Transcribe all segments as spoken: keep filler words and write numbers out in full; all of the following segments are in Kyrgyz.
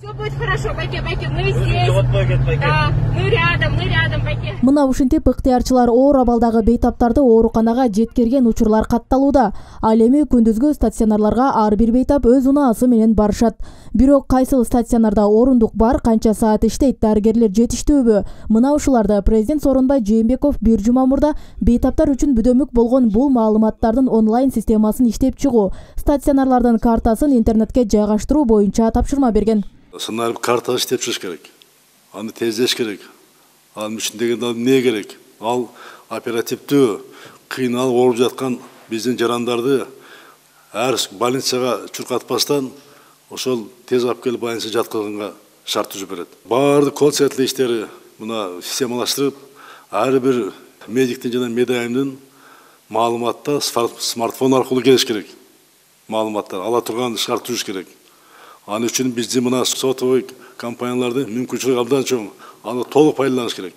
Все будет хорошо, байке, байке, мы здесь. Да, мы рядом, мы рядом, байке. Мына ушинтип ыктыярчылар оор абалдагы бейтаптарды ооруканага жеткирген учурлар катталууда. Ал эми күндүзгү стационарларга ар бир бейтап өз унаасы менен барышат. Бирок кайсыл стационарда орундук бар, канча саат иштейт, дарыгерлер жетиштүүбү? Мына ушуларды президент Сооронбай Жээнбеков бир жума мурда бейтаптар үчүн бүдөмүк болгон бул маалыматтардын онлайн системасын иштеп чыгуу, стационарлардын картасын интернетке жайгаштыруу боюнча тапшырма берген. Сценарий карта иштеп чыгыш керек. Аны тездеш керек. Анын үчүндөгү эмне керек? Ал оперативдүү кыйналып ооруп жаткан биздин жарандарды ар больницага чуркатпастан ошол тез алып келип больницага жаткызганга шарт түзүп берет. Баардык колл-центр иштери мына системалаштырып, ар бир медиктин жана медайымдын маалыматта смартфон аркылуу келиш керек. Маалыматтар ала турган шарт түзүш керек. Аны үчүн биздин мына сотовый компаниялардын мүмкүнчүлүгү абдан чоң. Аны толук пайдаланыш керек.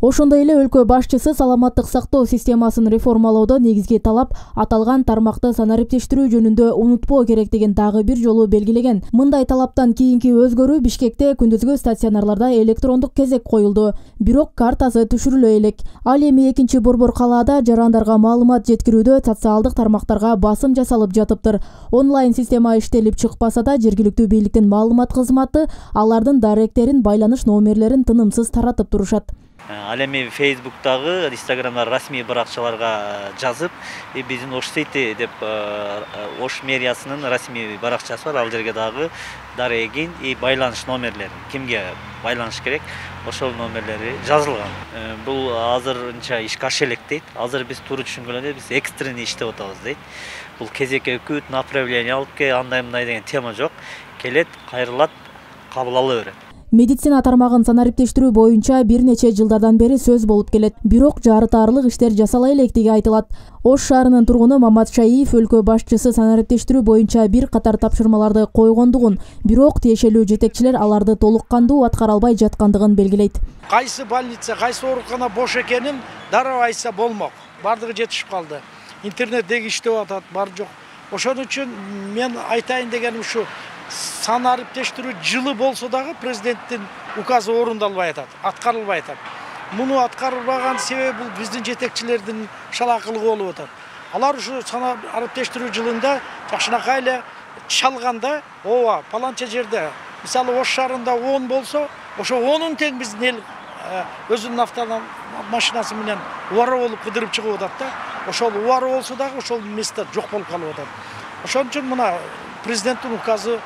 Ошондой эле өлкө башчысы саламаттык сактоо системасын реформалоодо негизги талап аталган тармакты санариптештирүү жөнүндө унутпоо керектигин дагы бир жолу белгилеген. Мындай талаптан кийинки өзгөрүү Бишкекте күндүзгү стационарларда электрондук кезек коюлду. Бирок картасы түшүрүлө элек. Ал эми экинчи борбор калаада жарандарга маалымат жеткирүүдө социалдык тармактарга басым жасалып жатыптыр. Онлайн система иштелип чыкпаса да жергиликтүү бийликтин маалымат кызматы алардын даректерин, байланыш номерлерин тынымсыз таратып турушат. Ал эми Фейсбуктагы, Инстаграмда расмий баракчаларга жазып, биздин Ош Сити деп Ош мэриясынын расмий баракчасы бар. Ал жерге дагы дарегин и байланыш номерлери, кимге байланыш керек, ошол номерлери жазылган. Бул азырынча ишке аша элек дейт. Азыр биз туура түшүнгөн эле биз экстренный иштеп атабыз дейт. Бул кезекке күт, направление алып ке, андай мындай деген тема жок. Келет, кайрылат, кабыл ала берет. Медицина тармагын санариптештирүү боюнча бир нече жылдардан бери сөз болуп келет. Бирок жарытаарлык иштер жасала электиги айтылат. Ош шаарынын тургуну Мамат Шаиев өлкө башчысы санариптештирүү боюнча бир катар тапшырмаларды койгондугун, бирок тиешелүү жетекчилер аларды толук кандуу аткара албай жаткандыгын белгилейт. Кайсы больница, кайсы оорукана бош экенин дароо айтса болмок. Бардыгы жетишип калды. Интернеттеги иштеп атат, бар жок. Ошон үчүн мен айтайын дегеним ушу. Санариптештирүү жылы болсо дагы президенттин указы орундалбай атат, аткарылбай атат. Муну аткарылбаган себеби бул биздин жетекчилердин шалакылыгы болуп атат. Алар ушу санариптештирүү жылында жакшынакай эле чалганда, ооба, паланча жерде, мисалы Ош шаарында он болсо, ошо онун тең биздин эл өзүнүн автомашинасы менен убара болуп кыдырып чыгып атат да. Ошол убара болсо дагы ошол место жок болуп калып атат. Ошон үчүн мына президенттин указы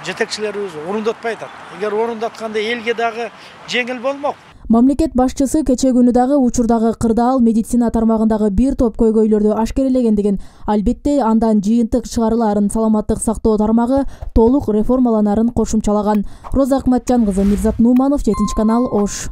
жетекчилерибиз орундатпай атат. Эгер орундатканда элге дагы жеңил болмок. Мамлекет башчысы кече күнү дагы учурдагы кырдаал медицина тармагындагы бир топ көйгөйлөрдү ашкерелегендигин, албетте андан жыйынтык чыгарылаарын саламаттык сактоо тармагы толук реформаланарын кошумчалаган. Роза Акматжан кызы, Мирзат Нуманов, жетинчи канал, Ош.